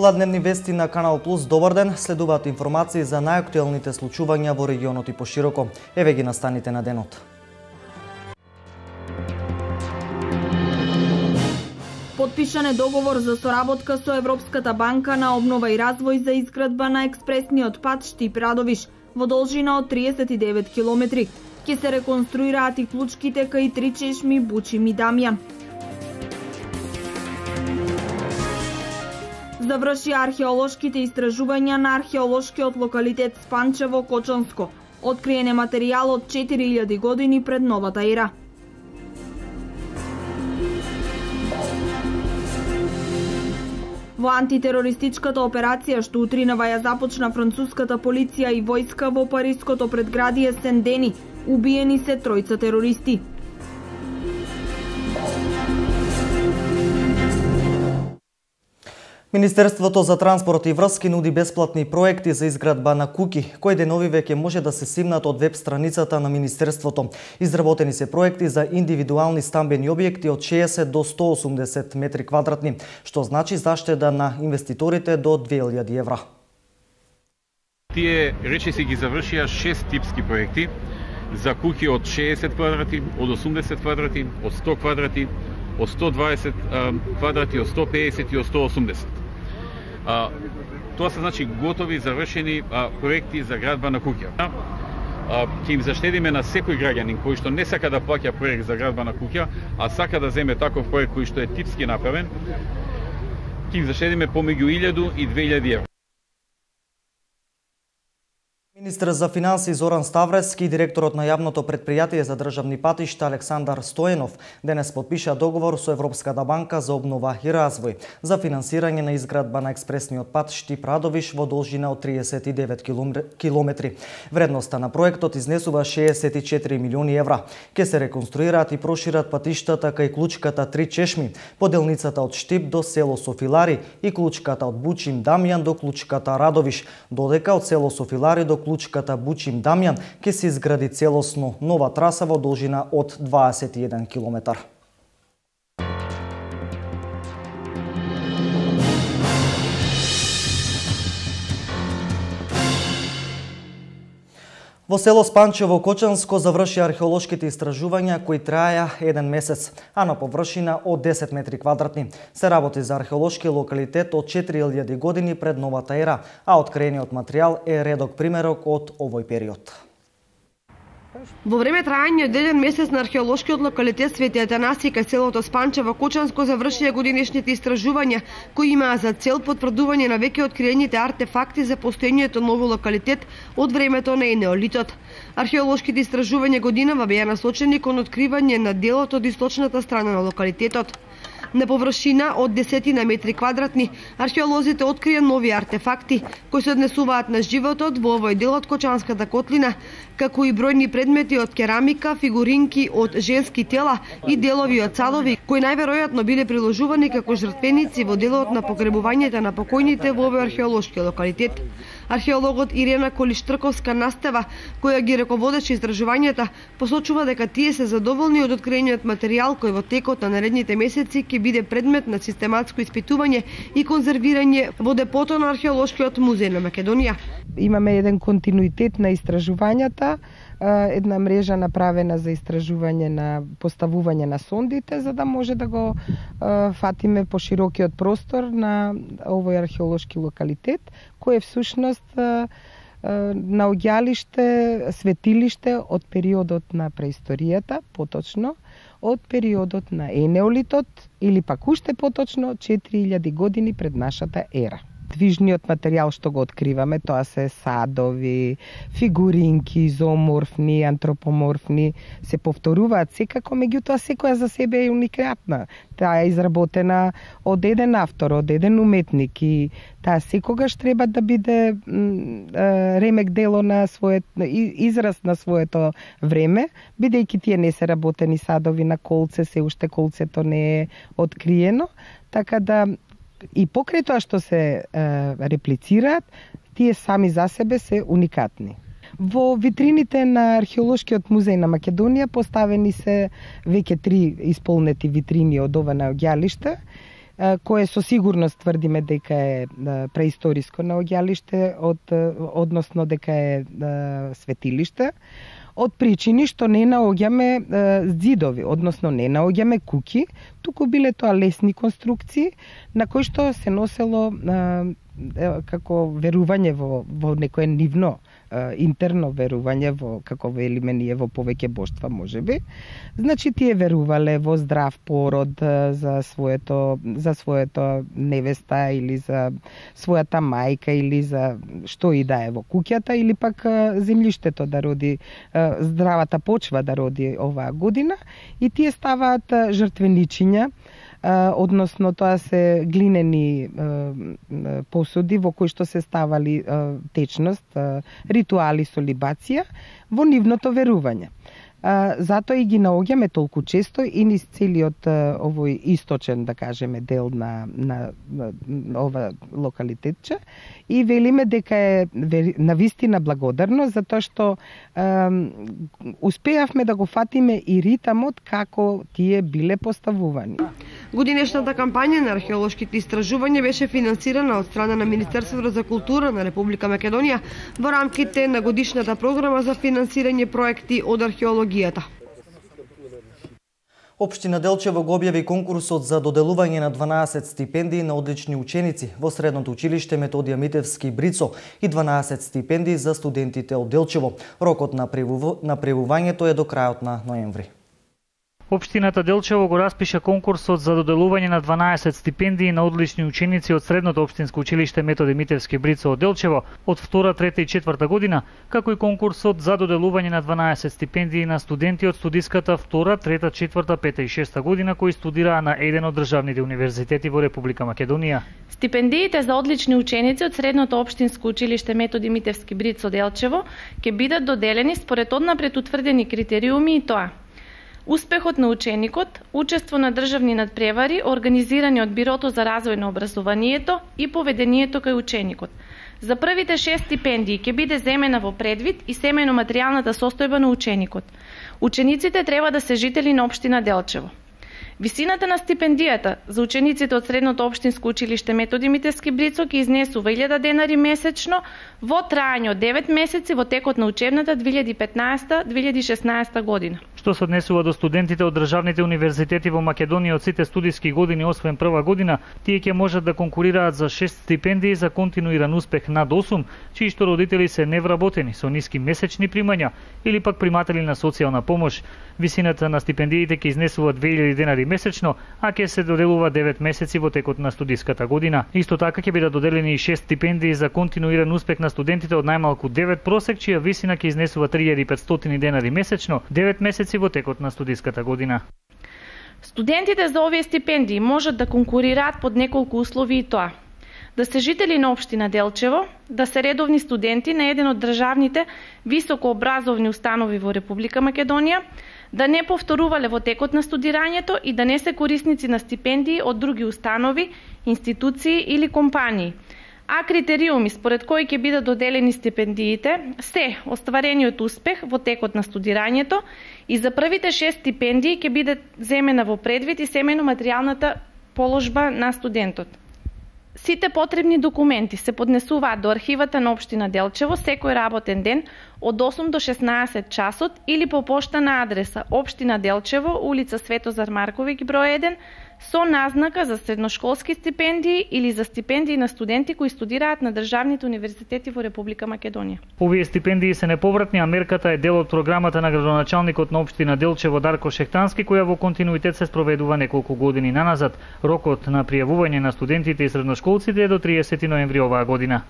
Ова дневни вести на Канал Плюс. Добар ден, следуваат информации за најактуелните случувања во регионот и пошироко. Еве ги настаните на денот. Подпишан е договор за соработка со Европската банка на обнова и развој за изградба на експресниот пат Штип-Радовиш во должина од 39 километри. Ќе се реконструираат и клучките кај три чешми Бучим и Дамјан. Заврши археолошките истражувања на археолошкиот локалитет Спанчево, Кочанско. Откриен е материјал од 4000 години пред новата ера. Во антитерористичката операција што утринава ја започна француската полиција и војска во париското предградие Сен-Дени, убиени се тројца терористи. Министерството за транспорт и врски нуди бесплатни проекти за изградба на куќи, кои денови веќе може да се симнат од веб страницата на Министерството. Изработени се проекти за индивидуални стамбени објекти од 60 до 180 метри квадратни, што значи заштеда на инвеститорите до 2000 евра. Тие речиси ги завршија 6 типски проекти за куќи од 60 квадрати, од 80 квадрати, од 100 квадрати, од 120 квадрати, од 150 и од 180. Тоа се значи готови, завршени проекти за градба на куќа. Ќе им заштедиме на секој граѓанин кој што не сака да плаќа проект за градба на куќа, а сака да земе таков проект кој што е типски направен, ќе им заштедиме помеѓу 1000 и 2000 евра. Министр за финансии Зоран Ставрески и директорот на јавното претпријатие за државни патишта Александар Стоенов денес подпиша договор со Европската банка за обнова и развој за финансирање на изградба на експресниот пат Штип-Радовиш во должина од 39 километри. Вредноста на проектот изнесува 64 милиони евра. Ке се реконструираат и прошират патиштата кај клучката Три чешми, поделницата од Штип до село Софилари и клучката од Бучим Дамјан до клучката Радовиш, додека од село Софилари до клучката Бучим Дамјан ќе се изгради целосно нова траса во должина од 21 километар. Во село Спанчево, Кочанско, заврши археолошките истражувања кои траја 1 месец, а на површина од 10 метри квадратни. Се работи за археолошки локалитет од 4000 години пред новата ера, а откриениот материјал е редок примерок од овој период. Во време трајање од 1 месец на археолошкиот локалитет Свети Атанасија кај селото Спанчево, Кочанско, завршија годинешните истражувања кои имаа за цел потврдување на веќе откриените артефакти за постоењето на овој локалитет од времето на енеолитот. Археолошките истражувања годинава беа насочени кон откривање на делот од источната страна на локалитетот. На површина од 10 метри квадратни, археолозите открија нови артефакти кои се однесуваат на животот во овој дел од Кочанската котлина, како и бројни предмети од керамика, фигуринки од женски тела и делови од садови, кои најверојатно биле приложувани како жртвеници во делот на погребувањето на покојните во овој археолошки локалитет. Археологот Ирена Колиштрковска Настева, која ги раководеше истражувањата, посочува дека тие се задоволни од откриениот материјал кој во текот на наредните месеци ќе биде предмет на систематско испитување и конзервирање во депото на Археолошкиот музеј на Македонија. Имаме еден континуитет на истражувањата, една мрежа направена за истражување на поставување на сондите, за да може да го фатиме по широкиот простор на овој археолошки локалитет, кој е всушност наоѓалиште, светилиште од периодот на преисторијата, поточно од периодот на енеолитот или пак уште поточно 4000 години пред нашата ера. Движниот материјал што го откриваме, тоа се садови, фигуринки, изоморфни, антропоморфни, се повторуваат секако, меѓутоа секоја за себе е уникатна. Таа е изработена од еден автор, од еден уметник и таа секогаш треба да биде ремек дело на својот израз на своето време, бидејќи тие не се работени садови на колце, се уште колцето не е откриено, така да и покрај тоа што се реплицираат, тие сами за себе се уникатни. Во витрините на Археолошкиот музеј на Македонија поставени се веќе 3 исполнети витрини од ова наоѓалиште, кое со сигурност тврдиме дека е преисториско наоѓалиште, односно дека е светилиште, од причини што не наоѓаме зидови, односно не наоѓаме куќи, туку биле тоа лесни конструкции на кои што се носело како верување во некое нивно интерно верување во, како велиме ние, во повеќе боштва можеби. Значи тие верувале во здрав пород за своето невеста или за својата мајка или за што и да е во куќата или пак земјиштето да роди, здравата почва да роди оваа година, и тие ставаат жртвеничиња, односно тоа се глинени посуди во кои што се ставали течност, ритуали со либација во нивното верување. Затоа и ги наоѓаме толку често и низ целиот овој источен, да кажеме, дел на ова локалитетче, и велиме дека е навистина благодарно затоа што успеавме да го фатиме и ритамот како тие биле поставувани. Годинешната кампања на археолошките истражувања беше финансирана од страна на Министерството за култура на Република Македонија во рамките на годишната програма за финансирање проекти од археологијата. Општина Делчево го објави конкурсот за доделување на 12 стипендии на одлични ученици во Средното училиште Методија Митевски Брицо и 12 стипендии за студентите од Делчево. Рокот на пријавувањето е до крајот на ноември. Општината Делчево го распиша конкурсот за доделување на 12 стипендии на одлични ученици од Средното општинско училиште Методи Митевски Брицо од Делчево од 2, 3 и 4 година, како и конкурсот за доделување на 12 стипендии на студенти од студиската 2, 3, 4, 5 и 6 година кои студираа на еден од државните универзитети во Република Македонија. Стипендиите за одлични ученици од Средното општинско училиште Методи Митевски Брицо Делчево ќе бидат доделени според однапред утврдени критериуми, и тоа: успехот на ученикот, учество на државни надпревари организирани од Бирото за развој на образованието и поведението кај ученикот. За првите 6 стипендии ќе биде земена во предвид и семејно-материјалната состојба на ученикот. Учениците треба да се жители на општина Делчево. Висината на стипендијата за учениците од Средното општинско училиште Методи Митевски Брицо ќе изнесува 1000 денари месечно во трајање од 9 месеци во текот на учебната 2015-2016 година. Што се однесува до студентите од државните универзитети во Македонија од сите студиски години освен прва година, тие ќе можат да конкурираат за 6 стипендии за континуиран успех над 8, чии што родители се невработени со ниски месечни примања или пак приматели на социјална помош. Висината на стипендиите ќе изнесува 2000 денари месечно, а ќе се доделува 9 месеци во текот на студиската година. Исто така ќе бидат доделени и 6 стипендии за континуиран успех на студентите од најмалку 9 просек, чија висина ќе изнесува 3500 денари месечно, 9 месеци во текот на студиската година. Студентите за овие стипендии можат да конкурираат под неколку услови, и тоа: да се жители на општина Делчево, да се редовни студенти на еден од државните високообразовни установи во Република Македонија, да не повторувале во текот на студирањето и да не се корисници на стипендии од други установи, институции или компании. А критериуми според кои ќе бидат доделени стипендиите се остварениот успех во текот на студирањето и за првите 6 стипендии ќе биде земена во предвид и семејно-материјалната положба на студентот. Сите потребни документи се поднесуваат до архивата на општина Делчево секој работен ден од 8 до 16 часот или по пошта на адреса општина Делчево, улица Светозар Марковиќ број 1, со назнака за средношколски стипендии или за стипендии на студенти кои студираат на државните универзитети во Република Македонија. Овие стипендии се неповратни, а мерката е дел од програмата на градоначалникот на општина Делчево Дарко Шехтански, која во континуитет се спроведува неколку години наназад. Рокот на пријавување на студентите и средношколците е до 30 ноември оваа година.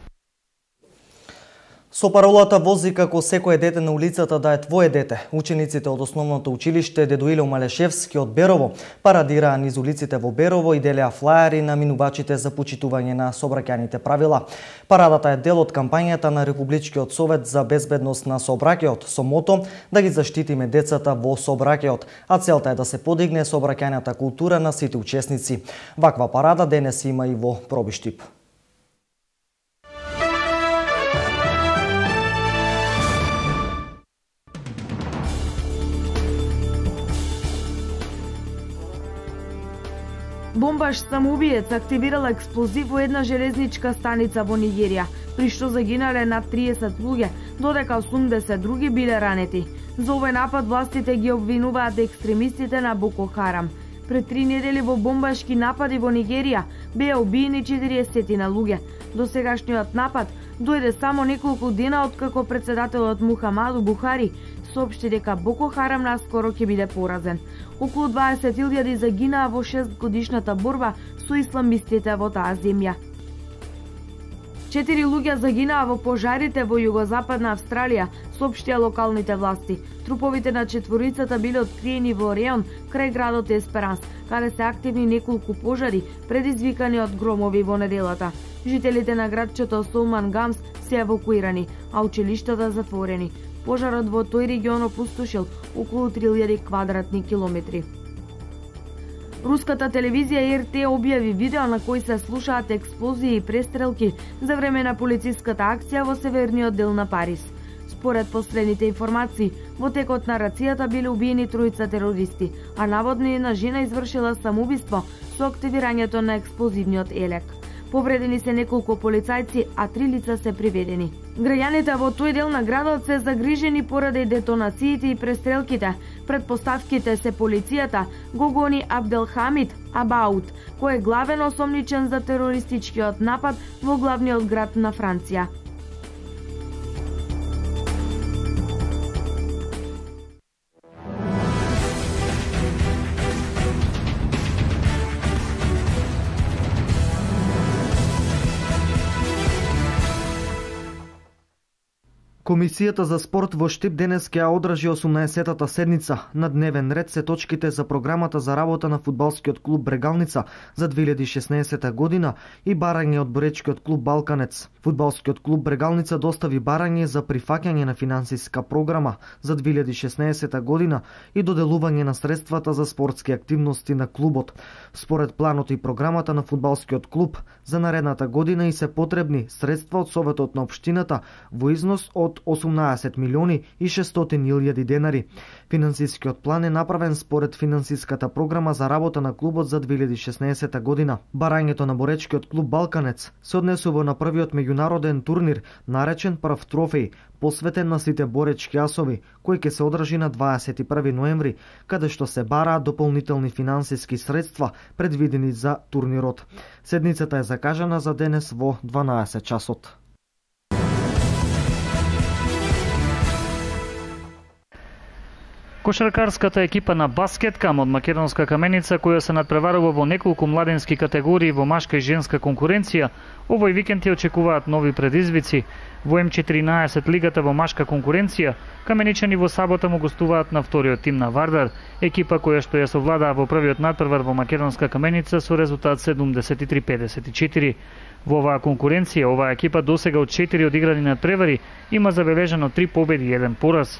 Со паролата "Вози како секое дете на улицата да е твое дете", учениците од основното училиште Дедо Ило Малешевски од Берово парадираа низ улиците во Берово и делеа флаери на минувачите за почитување на сообраќајните правила. Парадата е дел од кампањата на Републичкиот совет за безбедност на сообраќајот со мото да ги заштитиме децата во сообраќајот, а целта е да се подигне сообраќајната култура на сите учесници. Ваква парада денес има и во Пробиштип. Бомбаш самоубиец активирал експлозив во една железничка станица во Нигерија, при што загинале над 30 луѓе, додека 80 други биле ранети. За овој напад властите ги обвинуваат екстремистите на Боко Харам. Пред 3 недели во бомбашки напади во Нигерија беа убиени 40 на луѓе. Досегашниот напад дојде само неколку дена откако председателот Мухамаду Бухари соопшти дека Боко Харам наскоро ќе биде поразен. Околу 20.000 загинаа во 6-годишната борба со исламистите во таа земја. 4 луѓе загинаа во пожарите во југозападна Австралија, соопштија локалните власти. Труповите на четворицата биле откриени во Реон, крај градот Есперанс, каде се активни неколку пожари, предизвикани од громови во неделата. Жителите на градчето Солман Гамс се евакуирани, а училиштата затворени. Пожарот во тој регион опустошил околу 3000 квадратни километри. Руската телевизија РТ објави видео на кој се слушаат експлозии и престрелки за време на полициската акција во северниот дел на Париз. Според последните информации, во текот на рацијата биле убиени тројца терористи, а наводно една жена извршила самоубиство со активирањето на експлозивниот елек. Повредени се неколку полицајци, а 3 лица се приведени. Граѓаните во тој дел на градот се загрижени поради детонациите и престрелките. Предпоставките се полицијата го гони Абделхамид Абаут, кој е главен осомничен за терористичкиот напад во главниот град на Франција. Комисијата за спорт во Штип денес ќе одржи 18-тата седница. На дневен ред се точките за програмата за работа на фудбалскиот клуб Брегалница за 2016 година и барање од боречкиот клуб Балканец. Фудбалскиот клуб Брегалница достави барање за прифаќање на финансиска програма за 2016 година и доделување на средствата за спортски активности на клубот. Според планот и програмата на фудбалскиот клуб за наредната година и се потребни средства од Советот на општината во износ од 18 милиони и 600.000 денари. Финансискиот план е направен според финансиската програма за работа на клубот за 2016 година. Барањето на боречкиот клуб Балканец се однесува на првиот меѓународен турнир, наречен Прв трофеј, посветен на сите боречки асови, кој ќе се одржи на 21 ноември, каде што се бараат дополнителни финансиски средства предвидени за турнирот. Седницата е закажана за денес во 12 часот. Кошаркарската екипа на баскеткам од Македонска Каменица, која се надпреварува во неколку младенски категории во машка и женска конкуренција, овој викенд ја очекуваат нови предизвици. Во М14 лигата во машка конкуренција, каменичани во сабота му гостуваат на вториот тим на Вардар, екипа која што ја совладаа во првиот надпревар во Македонска Каменица со резултат 73-54. Во оваа конкуренција, оваа екипа досега од 4 одиграни надпревари има забележано 3 победи и 1 пораз.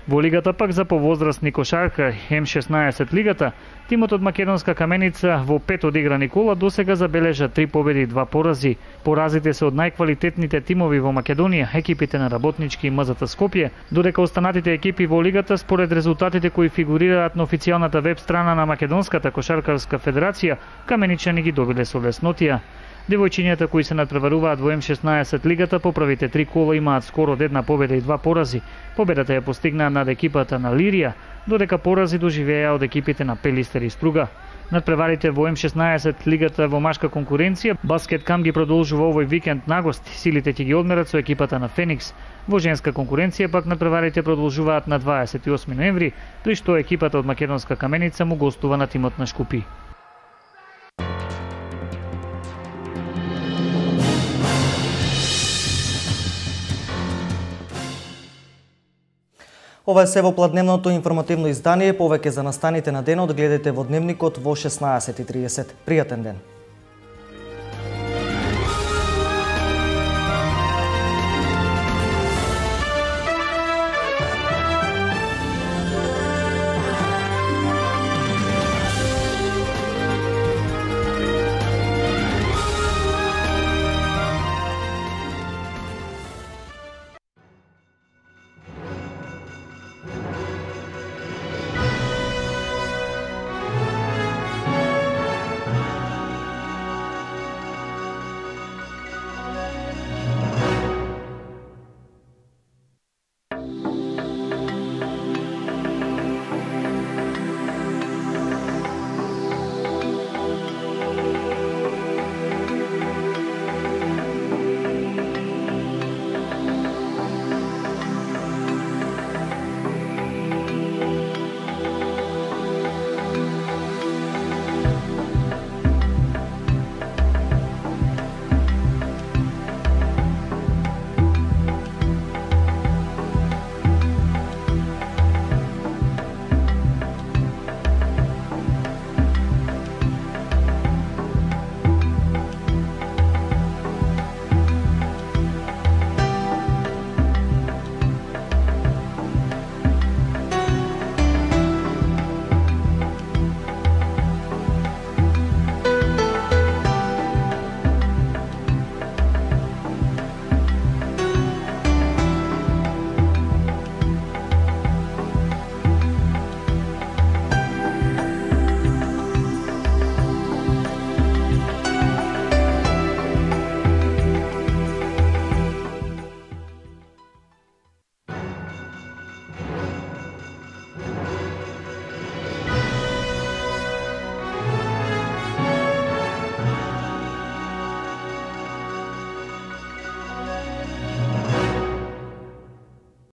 Во лигата пак за повозрастни кошарка, М16 лигата, тимот од Македонска Каменица во 5 одиграни кола досега забележа 3 победи и 2 порази. Поразите се од најквалитетните тимови во Македонија, екипите на Работнички и МЗТ Скопје, додека останатите екипи во лигата според резултатите кои фигурираат на официјалната веб страна на Македонската кошаркарска федерација, каменичани ги добиле со леснотија. Девојчињата кои се надпреваруваат во М16 лигата по првите 3 кола имаат скоро од 1 победа и 2 порази. Победата ја постигнаа над екипата на Лирија, додека порази доживеа од екипите на Пелистер и Струга. Надпреварите во М16 лигата во машка конкуренција, Баскеткам ги продолжува овој викенд на гости. Силите ќе ги одмерат со екипата на Феникс. Во женска конкуренција пак надпреварите продолжуваат на 28 ноември, при што екипата од Македонска Каменица му гостува на тимот на Шкупи. Ова е се во пладневното информативно издание. Повеќе за настаните на денот гледате во Дневникот во 16:30. Пријатен ден!